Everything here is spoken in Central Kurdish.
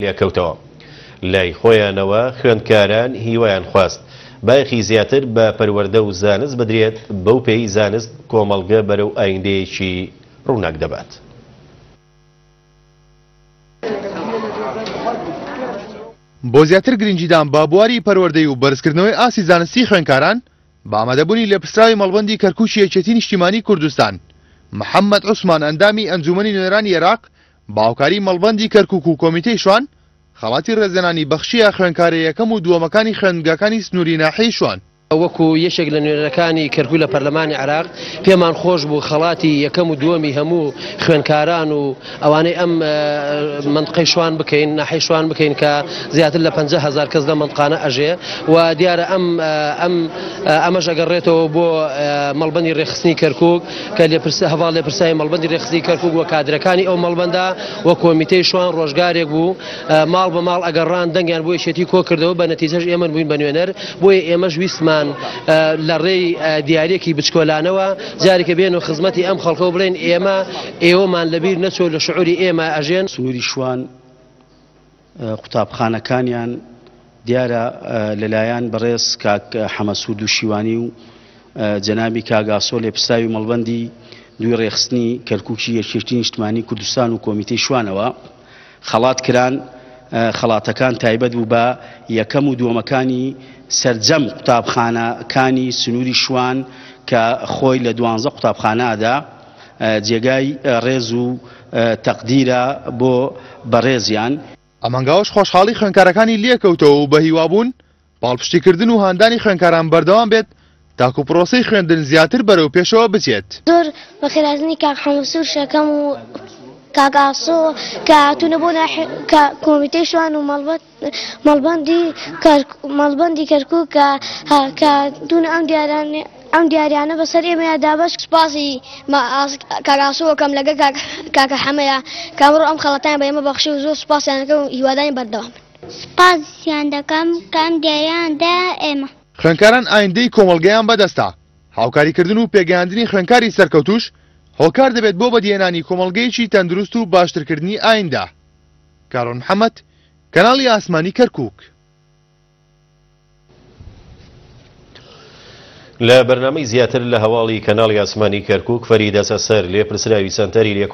لێکەوتەوە. لای خۆیانەوە خوێندکاران هیوایان خواست بایەخی زیاتر بە پەروەردە و زانست بدرێت، بەو پێیەی زانست کۆمەڵگە بەرەو ئایندەیەکی ڕووناک دەبات. بۆ زیاتر گرنگیدان بە بواری پەروەردەی و بەرزکردنەوەی ئاستی زانستی خوێندکاران، بە ئامادەبوونی لێپرسراوی مەڵبەندی کەرکوکی یەکێتی نیشتیمانی کوردستان، محەمەد عوسمان ئەندامی ئەنجومەنی نوێنەرانی عێراق بە هاوکاری مەڵبەندی کەرکوک و کۆمیتەی شوان، خەڵاتی ڕێزلێنانی بەخشییە خوێندکارە یەکەم و دووەمەکانی خوێندنگاکانی سنووری ناحیەی شوان. وەکو یەکێک لە نوێنەرەکانی کەرکوک لە پەرلەمانی عێراق، پێمان خۆش بوو خەڵاتی یەکەم و دووەمی هەموو خوێندکاران و ئەوانەی ئەم مەنتقەی شوان بکەین، ناحیەی شوان بکەین کە زیاتر لە 50,000 کەس لەم مەنتقانە ئەژێ و دیارە ئەم ئەم ئەمەش ئەگەڕێتەوە بۆ مەڵبەندی ڕێکخستنی کەرکوک. کە لێپرس هەڤاڵ لێپرسراوی مەڵبەندی رێکخستنی کەرکوک و کادرەکانی ئەو مەڵبەندە و کۆمیتەی شوان ڕۆژگارێک بوو ماڵ بە ماڵ ئەگەڕان دەنگیان بۆ یەکێتی کۆ کردەوە بە نەتیجەش ئێمە بووین بە نوێنەر بۆیە ئێمەش ویستمان لە ڕێی دیارێکی بچکۆلانەوە جارێکە بێن و خزمەتی ئەم خەڵکە و بڵێن ئێمە ئێوەمان لەبیر نەچۆ لە شعوری ئێمە ئەژێن. سنووری شوان قوتابخانەکانیان دیارە لەلایەن بەڕێز کاک حەمەسوور دووشیوانی و جەنابی کاک ئاسۆ لێپرسراوی مەڵبەندی دووی ڕێکخستنی کەرکوکی یەکێتی نیشتمانی کوردستان و کۆمیتەی شوانەوە خەڵات کران، خەڵاتەکان تایبەت بوو بە یەکەم و دووەمەکانی سەرجەم قوتابخانەکانی سنووری شوان کە خۆی لە دوانزە قوتابخانەدا جێگای ڕێز و تەقدیرە بۆ بەڕێزیان. ئەم هەنگاوەش خۆشحاڵی خوێندکارەکانی لێکەوتەوە و بەهیوابوون پاڵپشتیکردن و هاندانی خوێندکاران بەردەوام بێت تاکو پرۆسەی خوێندن زیاتر بەرەو پێشەوە بچێت. زۆر بەخێرهاتنی کاک حەمەسوور شەکەم و کاک ئاسۆ کە هاتوونە بۆ ناحیە کە کۆمیتەی شوان و مەڵبەت مەڵبەندی مەڵبەندی کەرکوک کە کە هاتوونە ئەم دیارانە ئەم دیاریانە بەسەر ئێمەیا دابەش سوپاسی کاک ئاسۆ ئەکەم لەگەڵ کاک کاکە حەمەیە کە ئەمڕۆ ئەم خەڵاتەیان بە ئێمە بەخشی و زۆر سوپاسیان ئەکەم و هیوادارین بەردەوام بن. سوپاسیان دەکەم کە ئەم دیاریەیان دایە ئێمە. خوێندکاران ئایندەی کۆمەڵگەیان بەدەستە، هاوکاریکردن و پێگەیاندنی خوێندکاری سەرکەوتووش هۆکار دەبێت بۆ بەدیهێنانی کۆمەڵگەیەکی تەندروست و باشترکردنی ئایندە. کارۆن محەمەد، کەناڵی ئاسمانی کەرکوک. لە بەرنامەی زیاتر لە هەواڵی کەناڵی ئاسمانی کەرکوک فەریدە سەسەر لێپرسراوی سەنتەری لێکۆڵینەوە.